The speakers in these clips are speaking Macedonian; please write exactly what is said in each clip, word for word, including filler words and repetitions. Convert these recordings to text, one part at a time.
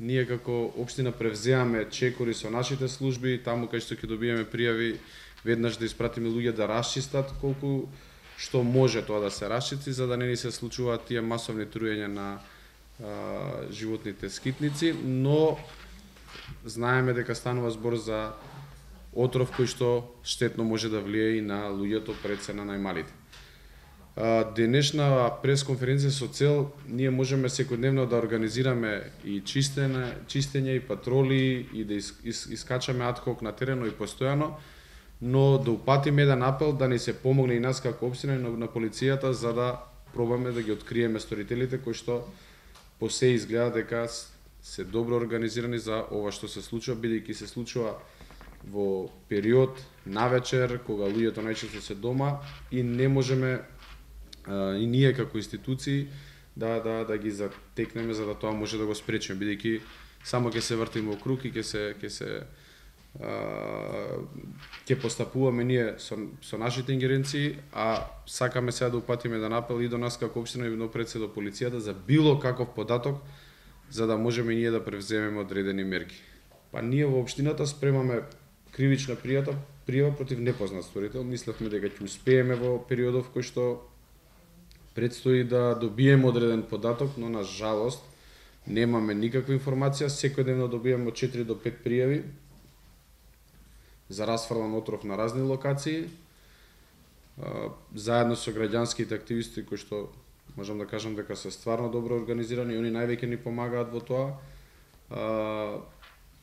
ние како општина превземаме чекори со нашите служби, таму кај што ќе добиеме пријави, веднаш да испратиме луѓе да расчистат колку што може тоа да се расчисти, за да не ни се случуваат тие масовни труења на а, животните скитници, но знаеме дека станува збор за отров кој што штетно може да влие и на луѓето, пред се на најмалите. Денешна пресконференција со цел ние можеме секојдневно да организираме и чистење, чистење и патроли и да из, из, искачаме адхок на терено и постојано, но да упатиме еден апел да ни се помогне и нас како општина и на, на полицијата за да пробаме да ги откриеме сторителите кои што по се изгледа дека се добро организирани за ова што се случува, бидејќи се случува во период навечер кога луѓето најчесто се дома и не можеме и ние како институции да да да ги затекнеме за да тоа може да го спречиме, бидејќи само ќе се вртиме во круг и ќе се ќе се ќе постапуваме ние со со нашите ингеренции, а сакаме сега да упатиме еден апел и до нас како општина и напред се до полицијата за било каков податок за да можеме ние да превземеме одредени мерки. Па ние во општината спремаме кривична пријата пријава против непознат сторител. Мислевме дека ќе успееме во периодов кој што предстои да добиеме одреден податок, но на жалост немаме никаква информација. Секојдневно добиваме од четири до пет пријави за расфрлан отров на разни локации. Заедно со граѓанските активисти кои што можам да кажам дека се стварно добро организирани и они највеќе ни помагаат во тоа.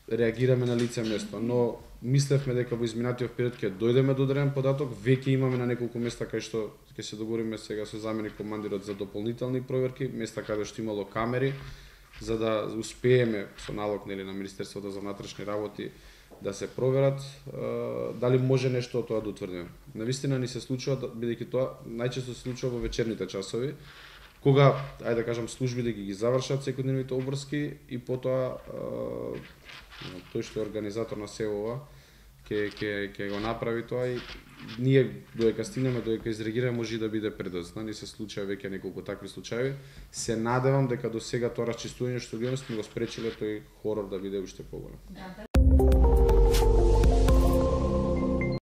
Реагираме на лице место, но мислевме дека во изминатиот период ќе дојдеме до одреден податок, веќе имаме на неколку места кај што ќе се договориме сега со заменик командирот за дополнителни проверки, места каде што имало камери, за да успееме со налог нели на Министерството за внатрешни работи да се проверат дали може нешто од тоа да утврдиме. Навистина ни се случува, бидејќи тоа најчесто се случува во вечерните часови, кога, ајде да кажам, службите ги ги завршат секојдневните обврски и потоа тој што е организатор на се ова ќе ќе ќе го направи тоа и ние додека стигнеме, додека изреагираме, може и да биде предоцна. Ни се случува веќе неколку такви случаи. Се надевам дека до сега тоа расчистување што го имаме сме го спречиле тој хорор да биде уште поголем.